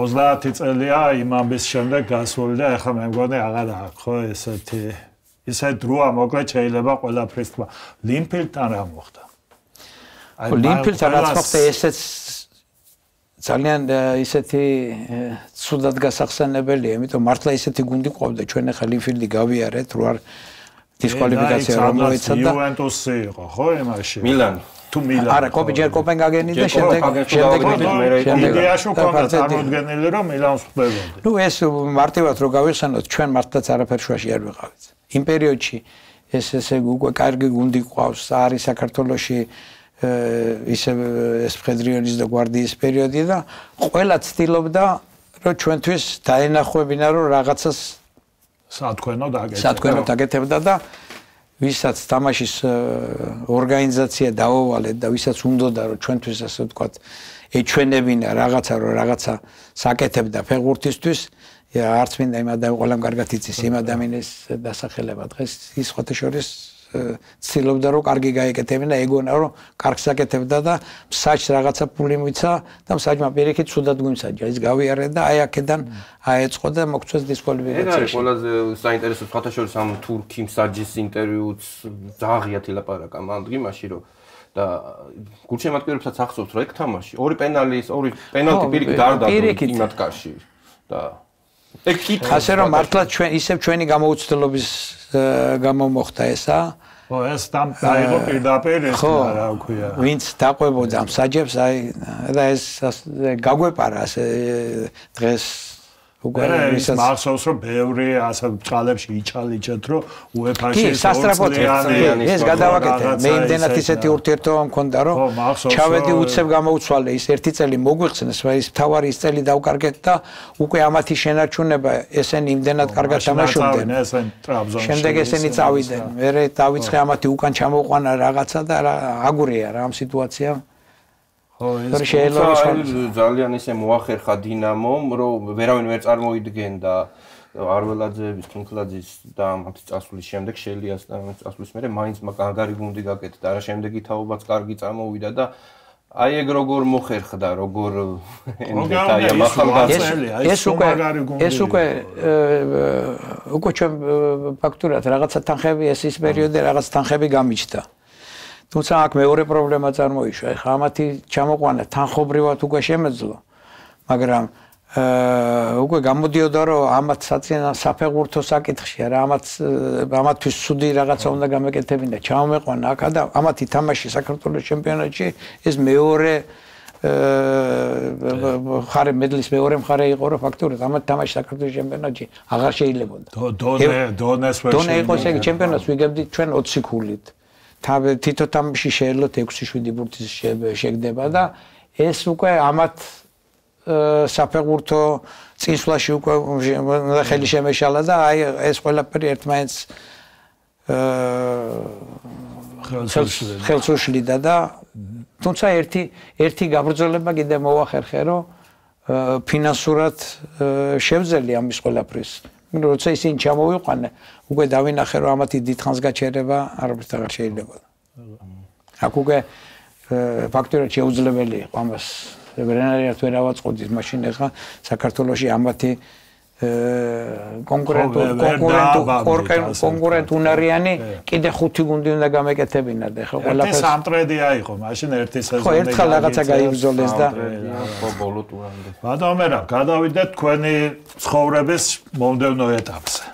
30 წელია იმ ამბის შემდეგ გასული და ეხლა მე მგონი აღარ აქვს ხო ესეთი ისეთ დროა მოკლედ შეიძლება ყველაფრის თქვა. ლინფილდთან რა მოხდა? ლინფილდთან რაც მოხდა ესეც ძალიან ისეთი ცუდად გასახსენებელია, იმიტომ მართლა ისეთი გუნდი ყავდა ჩვენ ახლა ლინფილდი გავიარეთ, რო არ დისკვალიფიკაცია რომ მოეცა და იუვენტუსი იყო ხო იმაში? მილანი. თუ მილანი. არა, ჯერ კოპენჰაგენი და შემდეგ იდეაში ყავდა წარმოდგენილი რომ მილანს ხვდებოდი. ნუ ეს მარტივად რო გავიხსენოთ, ჩვენ მართლაც არაფერ შუაში არ ვიყავით. იმ პერიოდში ესე უკვე კარგი გუნდი ყავს, არის საქართველოში ისე ეს ფედრიონის და გვარდიის პერიოდი და ყველა ცდილობდა რომ ჩვენთვის დაენახვებინა რომ რაღაცას სათქვენო დაგეთებდა და ვისაც თამაშის ორგანიზაცია დაუვალეთ და ვისაც უნდოდა რომ ჩვენთვის ასე ვთქვათ ეჩვენებინა რაღაცა რომ რაღაცა საკეთებდა ფეხბურთისთვის არც მინდა იმ ადამიანს ყველამ კარგად იცის იმ ადამიანის დასახელება დღეს ის ხოთა შორის ცდილობდა რომ კარგი გაეკეთებინა ეგონა რომ კარგს აკეთებდა და მსაჯს რაღაცა ფული მიცა და მსაჯმა პირიქით ცუდად გვიმსაჯა ის გავიარე და აი აქედან აეწყო და მოგწეს დისკვალიფიკაციაში. ყველაზე საინტერესო ხოთა შორის ამ თურქი მსაჯის ინტერვიუც ძაღიათ ილაპარაკა ამ დღიმაში რომ და გულშემატკივრებსაც ახსოვს რომ ეგ თამაში ორი პენალტი პირიქით გარდა იმათ კარში და ეგ კითხვა ასე რომ მართლა ჩვენ ისევ ჩვენი გამოუცდელობის გამო მოხდა ესა. ხო, ეს დაიღო პირდაპირ ეს რა ქვია. ვინც დაყვებოდა მსაჯებს, აი და ეს გაგვეპარა ასე დღეს უკვე ის მახსოვს რომ ბევრი ასე ბჭყალებში იჩალიჩეთ რომ UEFA-ში ეს გადავაკეთე. მე იმდენად ისეთი ურთიერთობა მქონდა რომ ჩავედი უცებ გამოუცვალე ის ერთი წელი მოგვიხსნეს, ის მთავარი ის წელი დავკარგეთ და უკვე ამათი შენარჩუნება ესენი იმდენად კარგად თამაშობდნენ. შემდეგ ესენი წავიდნენ. მე დავიწყე ამათი უკან ჩამოყვანა რაღაცა და აგურია რა ამ სიტუაციამ. ძალიან ისე მოახერხა დინამომ, რომ ვერავინ ვერ წარმოიდგენდა არველაძეების, კინკლაძის და მათი წასვლის შემდეგ შელიას და წასვლის მერე მაინც მაგარი გუნდი გაკეთდა. არა შემდეგი თაობაც კარგი წარმოვიდა და აი ეგ როგორ მოხერხდა, როგორ ენდეტაია მახალგაზრდელია. ეს უკვე ჩვენ ფაქტურად რაღაცა თანხები ეს პერიოდი რაღაც თანხები გამიჩნდა. თუმცა აქ მეორე პრობლემა წარმოიშვა. ეხლა ამათი ჩამოყვანა თანხობრივად უკვე შემეძლო, მაგრამ უკვე გამოდიოდა რომ ამათ საფეხბურთო საკითხში არა ამათთვის ცუდი რაღაცა უნდა გამეკეთებინა. ჩამოეყვანა აქ და ამათი თამაში საქართველოს ჩემპიონატში ეს მეორე მხარე მედლის მეორე მხარე იყო რომ ფაქტურად ამათ თამაში საქართველოს ჩემპიონატში აღარ შეიძლებოდა. დონე იყოს ეგ ჩემპიონატს ვიგებდით ჩვენ 20 ქულით. თითო თამაში შეეძლოთ 6-7 ბურთის შეგდება და ეს უკვე ამათ საფეხბურთო წინსვლაში უკვე ხელი შემეშალა და აი ეს ყველაფერი ერთმანეთს ხელს უშლიდა და თუმცა ერთი გაბრძოლება კიდე მოახერხე რომ ფინანსურად შევძელი ამის ყველაფრის. როცა ისინი ჩამოვიყვანე, უკვე დავინახე რომ ამათი დიდხანს გაჩერება არაფერს აღარ შეიძლება. აქ უკვე ფაქტურად შეუძლებელი იყო ამას რენარიად ვერ ავაწყოდით, მაშინ ახლა საქართველოში ამათი კონკურენტ უნარიანი კიდე 5 გუნდი უნდა გამეკეთებინა და ახლა ყველაფერს სამტრედია იყო, მაშინ ერთი სეზონი. ხო, ერთხელ რაღაცა გაიბრძოლეს და ხო ბოლო ტურამდე. ბატონო, გადავიდეთ თქვენი ცხოვრების მომდევნო ეტაპზე.